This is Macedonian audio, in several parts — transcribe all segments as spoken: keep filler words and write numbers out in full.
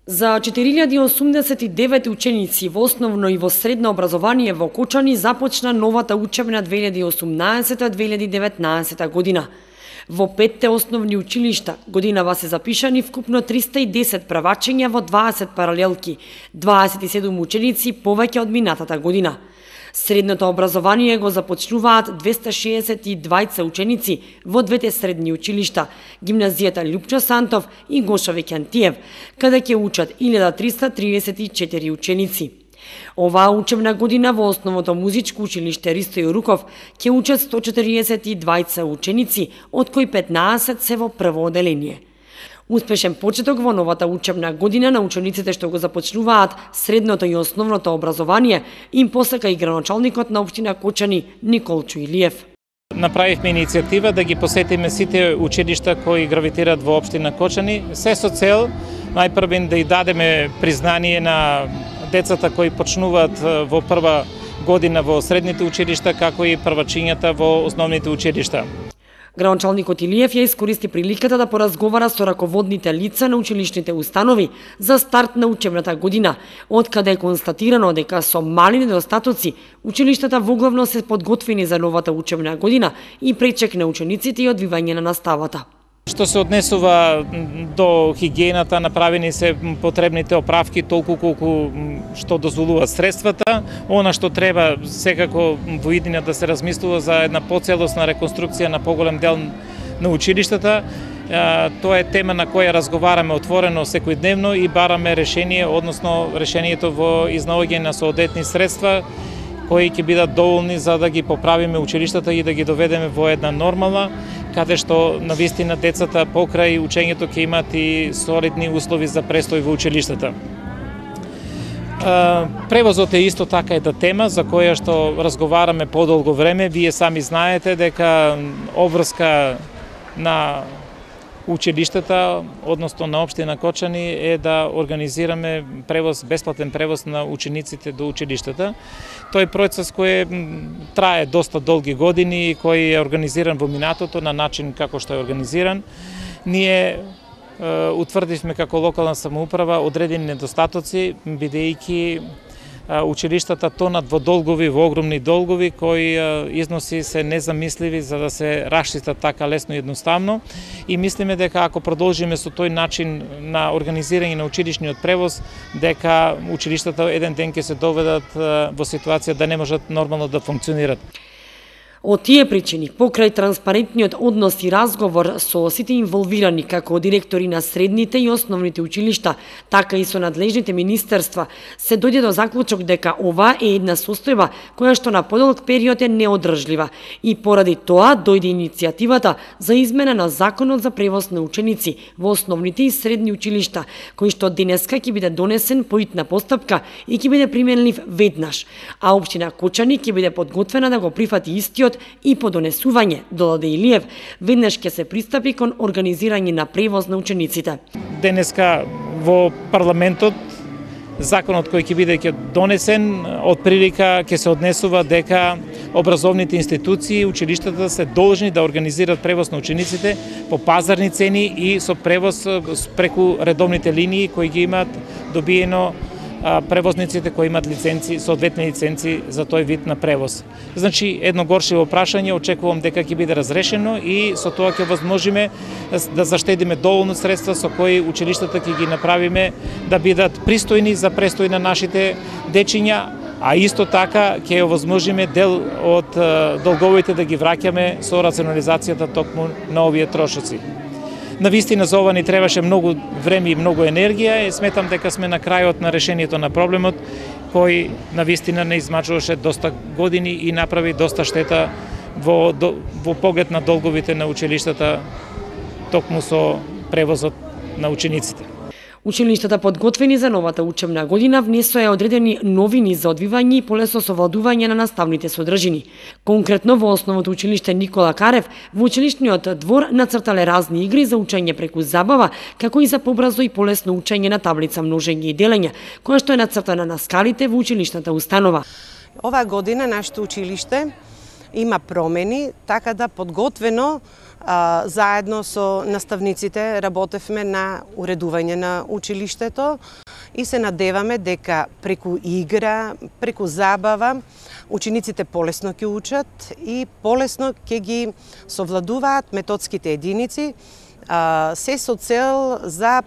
За четири илјади осумдесет и девет ученици во основно и во средно образование во Кочани започна новата учебна две илјади осумнаесета две илјади деветнаесета година. Во петте основни училишта годинава се запишани вкупно триста и десет правачења во дваесет паралелки, дваесет и седум ученици повеќе од минатата година. Средното образование го започнуваат двеста шеесет и двајца ученици во двете средни училишта, гимназијата Љупчо Сантов и Гоша Веќантиев, каде ќе учат илјада триста триесет и четири ученици. Оваа учебна година во основното музичко училиште Ристо Јоруков ќе учат сто четириесет и двајца ученици, од кои петнаесет се во прво оделение. Успешен почеток во новата учебна година на учениците што го започнуваат средното и основното образование им посака и граначалникот на општина Кочани Николчо Илиев. Направивме иницијатива да ги посетиме сите училишта кои гравитираат во општина Кочани, се со цел најпрвен да и дадеме признание на децата кои почнуваат во прва година во средните училишта, како и првачињата во основните училишта. Граначалникот Илиев ја искористи приликата да поразговара со раководните лица на училишните установи за старт на учебната година, откаде е констатирано дека со мали недостатоци училиштата воглавно се подготвени за новата учебна година и пречек на учениците и одвивање на наставата. Што се однесува до хигиената, направени се потребните оправки толку колку што дозволуваат средствата. Она што треба секако во иднина да се размислува за една поцелосна реконструкција на поголем дел на училиштата. Тоа е тема на која разговараме отворено секојдневно и бараме решение, односно решението во изнаоѓање на соодветни средства кои ќе бидат доволни за да ги поправиме училиштата и да ги доведеме во една нормална, каде што навистина децата покрај учењето ќе имаат и солидни услови за престој во училиштата. Превозот е исто така една тема за која што разговараме подолго време. Вие сами знаете дека обврска на училиштата, односно на општина Кочани, е да организираме превоз, бесплатен превоз на учениците до училиштата. Тој процес кој трае доста долги години и кој е организиран во минатото на начин како што е организиран. Ние е, утврдивме како локална самоуправа одредени недостатоци, бидејќи училиштата тонат во долгови, во огромни долгови, кои износи се незамисливи за да се расчистат така лесно и едноставно. И мислиме дека ако продолжиме со тој начин на организирање на училишниот превоз, дека училиштата еден ден ќе се доведат во ситуација да не можат нормално да функционират. Од тие причини, покрај транспарентниот однос и разговор со сите инволвирани, како директори на средните и основните училишта, така и со надлежните министерства, се дојде до заклучок дека ова е една состојба која што на подолг период е неодржлива и поради тоа дојде иницијативата за измена на Законот за превоз на ученици во основните и средни училишта, кој што денеска ќе биде донесен по итна постапка и ќе биде применлив веднаш, а општина Кочани ќе биде подготвена да го прифати истиот и по донесување, додаде Илиев, веднаш ќе се пристапи кон организирање на превоз на учениците. Денеска во парламентот законот кој ќе биде ќе донесен од прилика ќе се однесува дека образовните институции, училиштата се должни да организираат превоз на учениците по пазарни цени и со превоз преку редовните линии кои ги имаат добиено превозниците кои имаат лиценци, соодветни лиценци за тој вид на превоз. Значи, едно горшево прашање, очекувам дека ќе биде разрешено и со тоа ќе возможиме да заштедиме доволно средства со кои училиштата ќе ги направиме да бидат пристојни за престој на нашите дечиња, а исто така ќе овозможиме дел од долговите да ги враќаме со рационализацијата токму на овие трошоци. Навистина за ова ни требаше многу време и многу енергија и сметам дека сме на крајот на решението на проблемот кој навистина не измачуваше доста години и направи доста штета во, во поглед на долговите на училиштата токму со превозот на учениците. Училиштата подготвени за новата учебна година внесоа одредени новини за одвивање и полесно совладување на наставните содржини. Конкретно во основното училиште Никола Карев во училишниот двор нацртале разни игри за учење преку забава, како и за побрзо и полесно учење на таблица множење и делење, која што е нацртана на скалите во училишната установа. Оваа година нашето училиште има промени, така да подготвено Заедно со наставниците работевме на уредување на училиштето и се надеваме дека преку игра, преку забава, учениците полесно ќе учат и полесно ќе ги совладуваат методските единици, се со цел за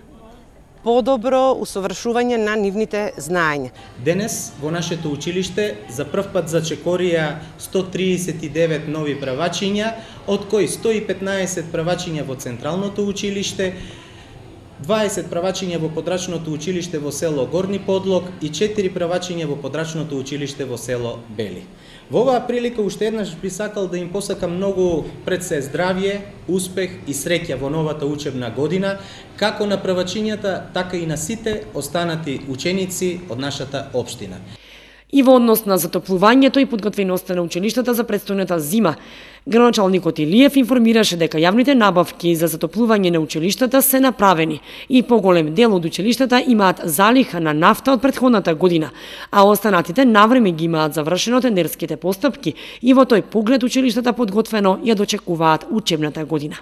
подобро усовршување на нивните знаења. Денес во нашето училиште за прв пат зачекорија сто триесет и девет нови правачиња, од кои сто и петнаесет правачиња во Централното училиште, дваесет правачиња во подрачното училиште во село Горни Подлог и четири правачиња во подрачното училиште во село Бели. Во оваа прилика уште еднаш би сакал да им посакам многу пред се здравје, успех и среќа во новата учебна година, како на правачињата, така и на сите останати ученици од нашата општина. И во однос на затоплувањето и подготвеноста на училиштата за предстојната зима, градоначалникот Илиев информираше дека јавните набавки за затоплување на училиштата се направени и поголем дел од училиштата имаат залиха на нафта од претходната година, а останатите навреме ги имаат завршено тендерските постапки и во тој поглед училиштата подготвено ја дочекуваат учебната година.